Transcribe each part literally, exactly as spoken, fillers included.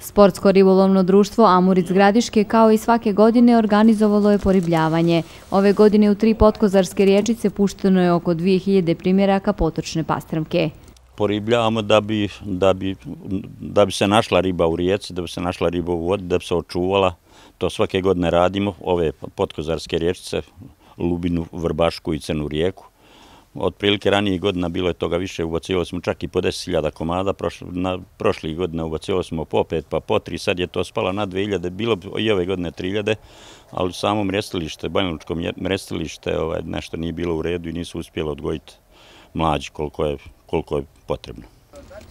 Sportsko ribolovno društvo Amur iz Gradiške kao i svake godine organizovalo je poribljavanje. Ove godine u tri potkozarske rječice pušteno je oko dvije hiljade primjeraka potočne pastrmke. Poribljavamo da bi, da, bi, da bi se našla riba u rijeci, da bi se našla riba u vodi, da bi se očuvala. To svake godine radimo, ove potkozarske rječice, Lubinu, Vrbašku i Crnu rijeku. Otprilike ranijih godina bilo je toga više, ubacivali smo čak i po deset hiljada komada, prošlih godina ubacivali smo po pet pa po tri, sad je to spalo na dvije hiljade, bilo i ove godine tri hiljade, ali samo mrestilište, Banjalučko mrestilište ovaj, nešto nije bilo u redu i nisu uspjeli odgojiti mlađi koliko je, koliko je potrebno.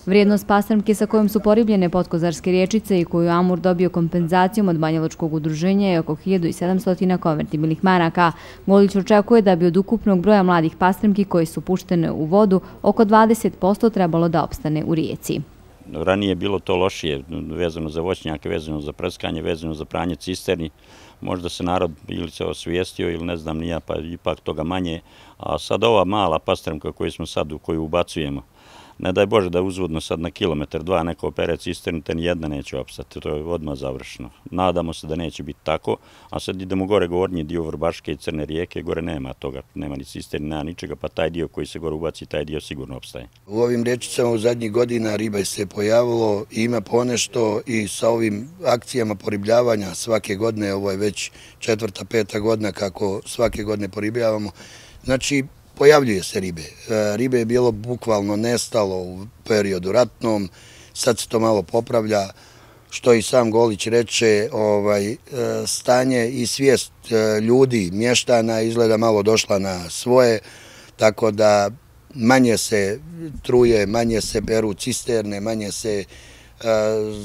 Vrijednost pastrmke sa kojom su poribljene potkozarske rječice i koju Amur dobio kompenzacijom od Banjalučkog udruženja je oko hiljadu sedamsto konvertibilnih maraka. Golić očekuje da bi od ukupnog broja mladih pastrmki koji su puštene u vodu oko dvadeset posto trebalo da opstane u rijeci. Ranije je bilo to lošije, vezano za voćnjake, vezano za prskanje, vezano za pranje cisterni. Možda se narod ili se osvijestio ili ne znam nija, pa ipak toga manje. A sad ova mala pastrmka koju smo sad, u koju ubacujemo, ne daj Bože da uzvodno sad na kilometar, dva neko opere cisternu, te nijedna neće opstati, to je odmah završeno. Nadamo se da neće biti tako, a sad idemo gore gornji dio Vrbaške i Crne rijeke, gore nema toga, nema ni cisterni, nema ničega, pa taj dio koji se gore ubaci, taj dio sigurno opstaje. U ovim rječicama u zadnjih godina riba se pojavilo i ima ponešto i sa ovim akcijama poribljavanja svake godine, ovo je već četvrta, peta godina kako svake godine poribljavamo, znači pojavljuje se ribe. Ribe je bilo bukvalno nestalo u periodu ratnom, sad se to malo popravlja, što i sam Golić reče, ovaj, stanje i svijest ljudi, mještana izgleda malo došla na svoje, tako da manje se truje, manje se beru cisterne, manje se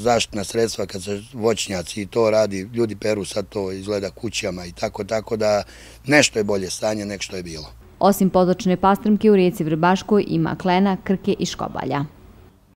zaštitna sredstva kad se voćnjaci i to radi, ljudi peru sad to izgleda kućama i tako, tako da nešto je bolje stanje nek što je bilo. Osim potočne pastrmke u rijeci Vrbaškoj ima klena, krke i škobalja.